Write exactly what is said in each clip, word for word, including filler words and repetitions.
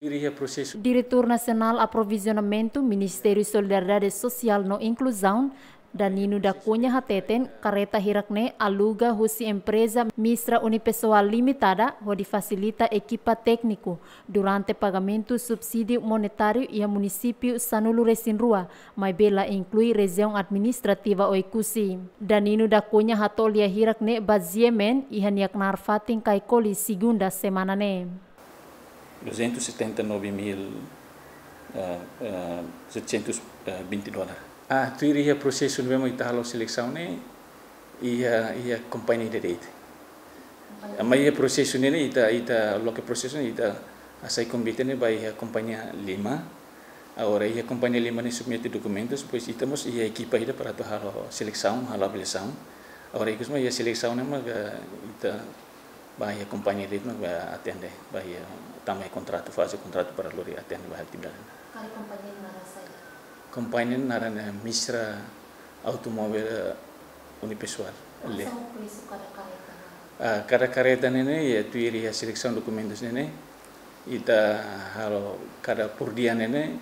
Tuir iha prosesu. Diretór Nasionál Aprovizionamentu, Ministériu Solidariedade Sosiál no Inkluzaun, Danino da Cunha hateten, karreta hirak-ne'e aluga husi empreza Mistra Unipessoal Limitada, hodi fasilita ekipa tékniku durante pagamentu subsídiu monetáriu iha munisípiu sanulu-resin-rua, maibé la inklui rejiaun administrativa Oekusi. Danino da Cunha hato'o lia hirak-ne'e ba G M N iha nia knaar fatin Caicoli, segunda semana ne'e. Duzentos e setenta e nove mil, eh, eh, setecentos e vinte dólar. Ah, tuir iha prosesu ne'ebé mak ita halo selesaun ne'e, iha, iha kompañia ida de'it. Maibé iha prosesu ne'e, ita, ita loke prosesu ne'e, ita hasai konvite ne'e ba iha kompañia lima. Agora iha kompañia lima ne'e submete dokumentus, depois ita mós iha ekipa ida para atu halo selesaun, halo avaliasaun. Agora ikus mak iha selesaun ne'e mak ita ba iha kompañia de'it mak ba atende, ba iha tama iha kontratu, faze kontratu para lori atende ba atividade. Karik kompañia naran saida? Kompañia naran, eh, Mistra Automóvel, eh, Unipessoal. Kuandu presu kada karreta? Ah, kada karreta ne'e ne'e, iha tuir iha selesaun dokumentus ne'e ne'e, ita halo kada por dia ne'e ne'e,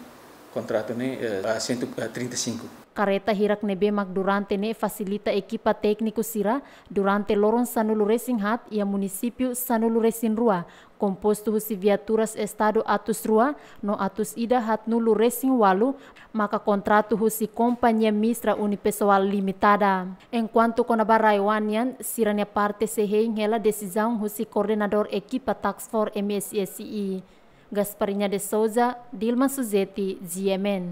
kontratu ne'e, eh, ah, cento e trinta e cinco. Karreta hirak ne'ebé mak durante ne'e fasilita ekipa tékniku sira durante loron sanulu-resin-haat iha munisípiu sanulu-resin-rua, kompostu husi viaturas estadu atus rua no atus ida haatnulu-resin-ualu, maka kontratu husi kompañia Mistra Unipessoal Limitada. Enkuantu kona-ba rai-oan nian, sira-nia parte sei hein hela desizaun husi koordenadór ekipa Task Force M S S I. Gasparinha de Souza, Dilma Suzeti, G M N.